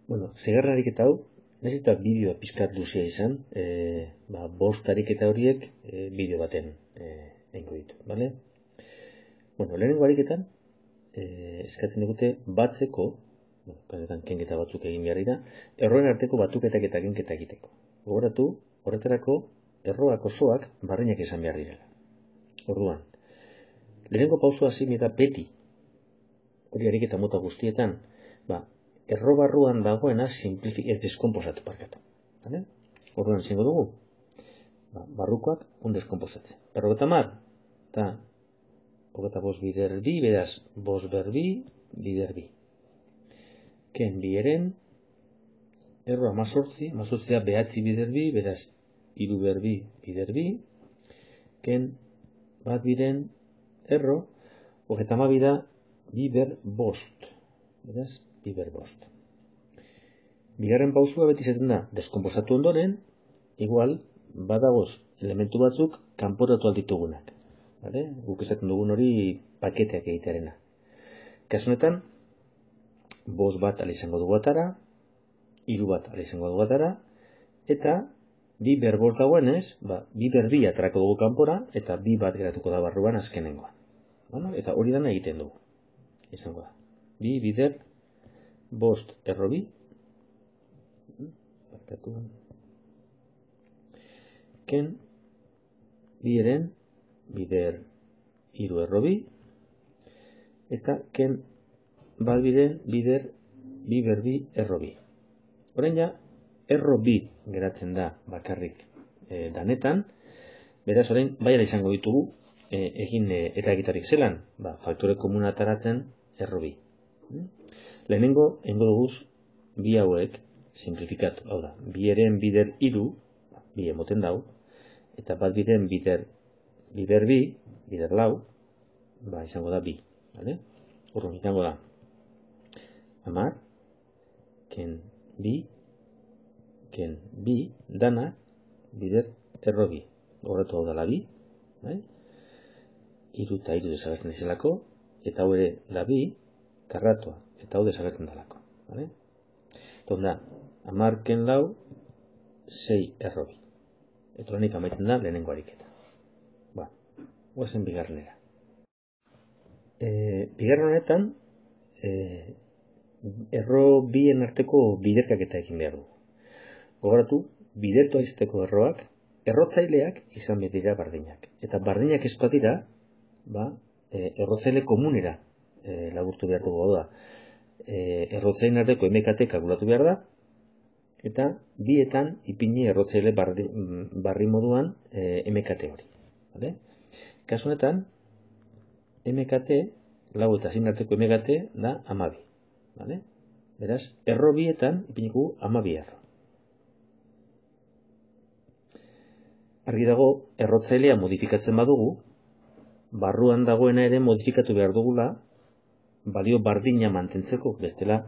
Bueno, seigarren ariketa hau, nahiz eta bideoa pixkat luzea izan, bost ariketa horiek bideo baten egingo ditu, bale? Bueno, lehenengo ariketan, eskatzen digute batzeko, kanetan kenketa batzuk egin behar dira, erroen arteko batuketak eta kenketa egiteko. Gogoratu, horretarako, erroak osoak barreinak izan behar direla. Orduan, lehenengo pausua zein eta beti, hori ariketa mota guztietan, erro barruan dagoena deskomposatu parkatu. Orduan zingo dugu, barrukoak deskomposatzen. 50 eta 25 bider bi, beraz, 5 berbi, bider bi. Ken bieren, erro 18, 18 da behatzi bider bi, beraz, 3 berbi, bider bi. Ken bat biren, erro, 32 da, biber bost. Beraz, biber bost. Bigarren pausua beti izaten da, deskomposatu ondoren, igual, badagoz elementu batzuk kanporatu alditugunak. Guk esaten dugun hori paketeak egitearena. Kasunetan, 5 bat ala izango dugu atara, 3 bat ala izango dugu atara, eta biber bost dagoenez, biber bi atarako dugu kanpora, eta 2 bat geratuko da barruan azkenengoan. Eta hori dana egiten dugu. Izango da. 2 bider bost erro bi, ken bieren bider hiru erro bi, eta ken bat biren bider biber bi erro bi. Orain ja, erro bi geratzen da bakarrik danetan, beraz orain baiara izango ditugu egin eta egitarik zelan, faktore komuna ataratzen erro bi. Lehenengo, engo duguz, bi hauek, simplifikatu, hau da, bieren bider hiru, bi emoten dau, eta bat biren bider bi, bider lau, izango da bi, urrun izango da, 10, ken bi, dana, bider erro bi, horretu hau dala bi, hiru eta hiru desagertzen dizelako, eta hau ere da bi, karratua, eta hau desagertzen dalako. Eta onda, 10 ken lau, 6 erro bi. Eta honik amaitzen da lehenengo ariketa. Guazen bigarrenera. Bigarren honetan, erro bien arteko biderkaketa egin behar du. Gogoratu, bidertua izateko erroak, errotzaileak izan behar dira bardinak. Eta bardinak ez badira, errotzaile komunera laburtu behar dugu da. Errotzaile arteko MKT kalkulatu behar da, eta bietan ipini errotzaile barri moduan MKT hori. Kasu honetan, MKT, lau eta zein arteko MKT da 12. Beraz, erro bietan ipiniko 12 erro. Argi dago, errotzailea modifikatzen badugu, barruan dagoena ere modifikatu behar dugula, balio bardina mantentzeko, bestela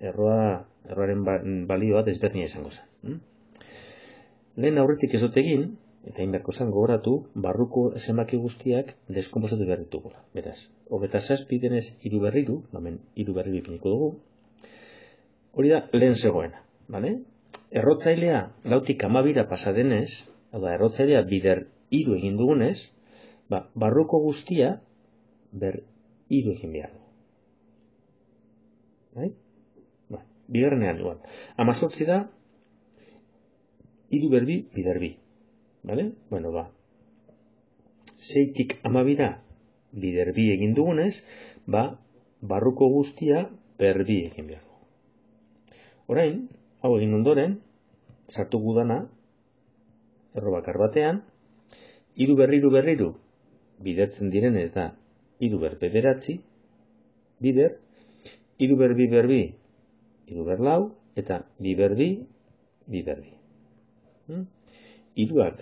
erroaren balioa desberdina izango zen. Lehen aurretik ez dut egin, eta inberko zen gogoratu, barruko zenbaki guztiak deskomposatu behar ditugula. Beraz, 27 denez 3 berriru, hemen 3 berriru ipiniko dugu, hori da lehen zegoena. Errotzailea lautik 12 pasa denez, errotzailea bider 3 egin dugunez, barruko guztia ber 3 egin behar du. Bigarrenean igual. 18 da 3 berbi, bider bi. 6tik 12 da bider bi egin dugunez, barruko guztia berbi egin behar du. Orain, hau egin ondoren, sartu gudana, erro bakar batean, 3 berriru bidertzen direnez da 3 berbe beratzi, bider, 3 berbi berbi, 3 berlau, eta bi berbi, bi berbi. Hiruak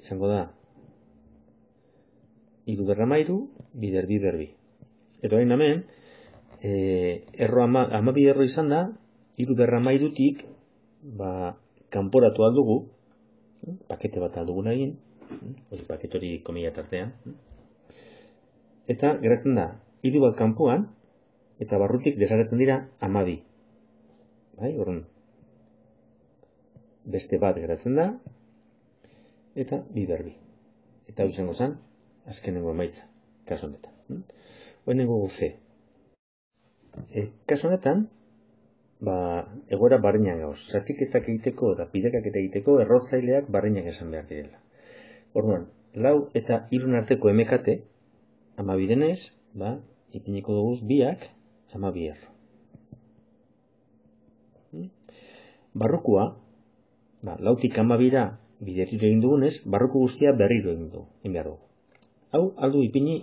izango da 3 berramairu, bider bi berbi. Eta orain hemen, erro 12 erro izan da, 3 berramairutik, kanporatu aldugu, pakete bat alduguna egin, pakete hori komila tartean, eta geratzen da, 3 bat kanpoan, eta barrutik desagertzen dira 12. Bai, orduan, beste bat geratzen da, eta bi berbi. Eta hau izango zen, azkenengo emaitza, kasu honetan. Hoenengo C. Kasu honetan, egoera barriñan gauz. Zatiketak egiteko eta pidekak egiteko errotzaileak barriñak esan behar direla. Orduan, 4 eta 3 arteko emekate, 12 denez, ipiniko dugu biak 12 erro. Barrukua, 4tik 12ra bideriro egin dugunez, barruko guztia berriro egin behar dugu. Hau, aldu ipini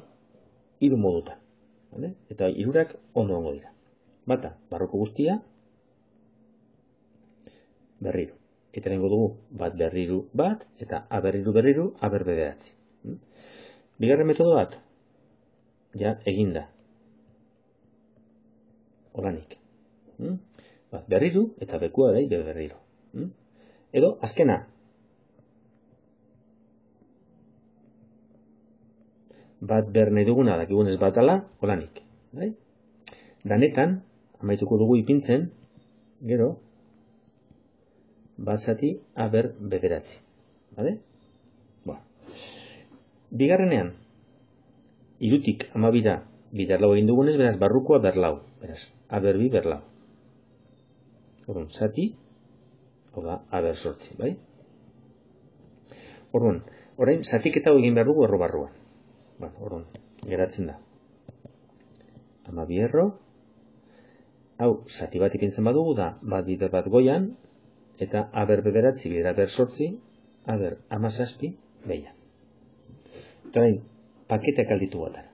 3 modutan. Eta 3ak ondo ongo dira. Bata, barruko guztia, berriro. Eta nengo dugu, bat berriru bat, eta a berriru, a bederatzi. Bigarren metodo bat, ja eginda. Olanik. Bat berriru, eta bekua da, berriro. Edo, azkena. Bat berne duguna, dakigunez bat ala, olanik. Danetan, amaituko dugu ipintzen, gero, bat zati, a bederatzi. Bigarrenean, 3tik 12ra biderlau egin dugunez, beraz, barrukoa berlau. Beraz, a berbi berlau. Orduan, zati, hau da, a bersortzi, bai? Orduan, orain, zatiketa egin behar dugu erro barruan. Orduan, geratzen da. 12 erro, hau, zati bat ipintzen badugu da, bat bider bat goian, eta a bederatzi bidera bersortzi, a 17 behian. Eta nahi, paketeak alditu batara.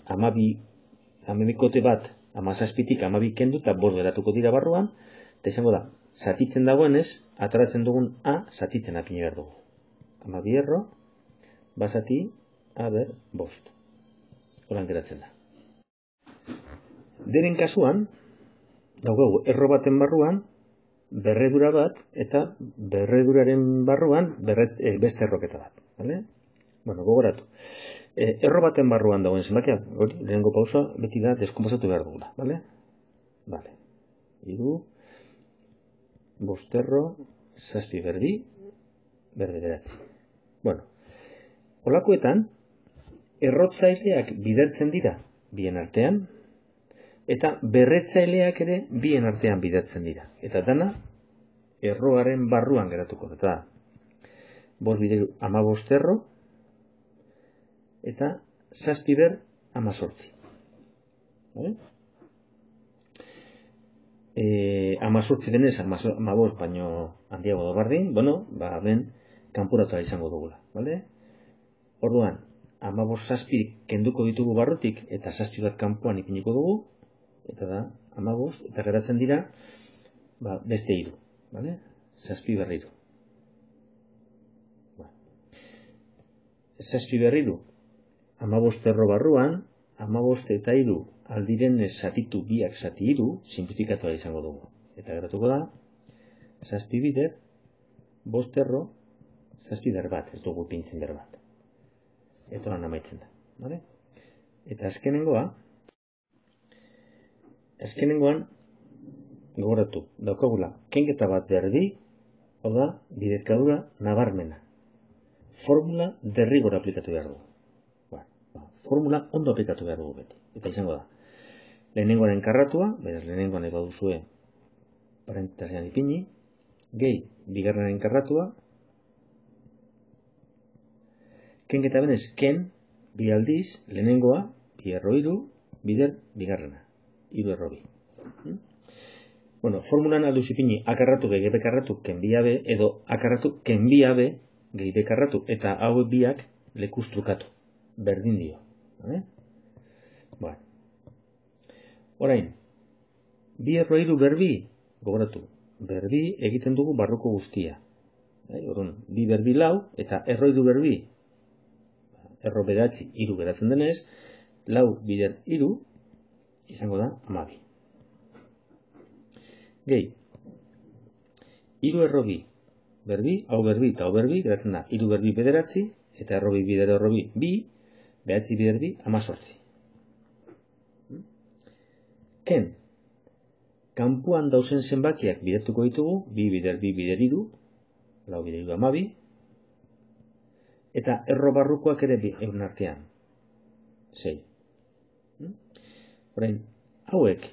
12kote bat, 17tik 12 kendu, eta 5 geratuko dira barruan, eta izango da, zatitzen dagoenez, ataratzen dugun a, zatitzen apini behar dugu. 12 erro, bazati, a 5. Horan geratzen da. Deren kasuan, daugegu, erro baten barruan, berredura bat, eta berreduraren barruan beste erroketa bat. Gogoratu. Erro baten barruan dagoen zenbakia, lehenengo pausa, beti da deskonposatu behar dugula. 3, 5 erro, 7 berbi, bederatzi. Holakoetan, errotzaileak bidertzen dira bien artean, eta berretzaileak ere bien artean bidertzen dira. Eta dana, erroaren barruan geratuko. Eta 5 bideru 15 erro, eta 7 ber 18. 18 denez, 15 baino handiago da bardin, ben kanporatu izango dugula. Orduan, 15 kenduko ditugu barrutik, eta 7 bat kanpoan ipiniko dugu, eta da, 15, eta geratzen dira, beste 3, 7 berriru. 7 berriru, 15 erro barruan, 15 eta 3 aldiren zatitu biak zati 3, simplifikatu izango dugu. Eta geratuko da, 7 bider, 5 erro, 7 ber bat, ez dugu pintzen ber bat. Eta lan amaitzen da. Eta azkenengoan, gogoratu, daukagula, kenketa bat berdi, hau da, bidezkadura nabarmena. Formula derrigor aplikatu behar dugu. Formula ondo aplikatu behar dugu beti. Eta izango da, lehenengoaren karratua, beraz lehenengoan eba duzue parentesian ipini, gehi bigarrenaren karratua, kenketa benez, ken, bi aldiz, lehenengoa, bi erro 3, bider, bigarrena. 3 erro 2. Formulan alduz ipini akarratu gehi bekarratu kenbiabe, edo akarratu kenbiabe gehi bekarratu, eta hauek biak lekustrukatu. Berdin dio. Orain, bi erro 3 berbi, gogoratu, berbi egiten dugu barruko guztia. Bi berbi 4, eta erro 3 berbi, erro bederatzi 3 geratzen denez, 4 bider 3, izango da 12. Gehi, 3 erro 2 berbi, hau berbi eta hau berbi, geratzen da 3 berbi bederatzi, eta erro 2 bider erro 2, behatzi bider 2, 18. Ken, kanpuan dauzen zenbakiak bidertuko ditugu, 2 bider 2 bider 3, 4 bider 3 12, eta erro barrukoak ere euren artean, 6. Orain, hauek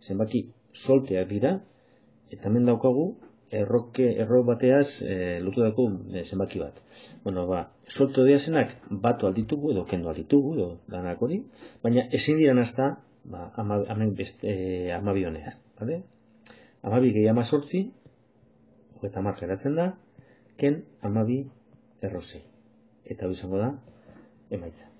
zenbaki solteak dira, eta hemen daukagu erro bateaz lotutako zenbaki bat. Bueno, solto diazenak batu alditugu edo kendu alditugu edo danak hori, baina ezin dira nazta hemen 12 honean, bale? 12 gehi 18, 30 geratzen da, ken 12 erro 6. Eta hau izango da emaitza.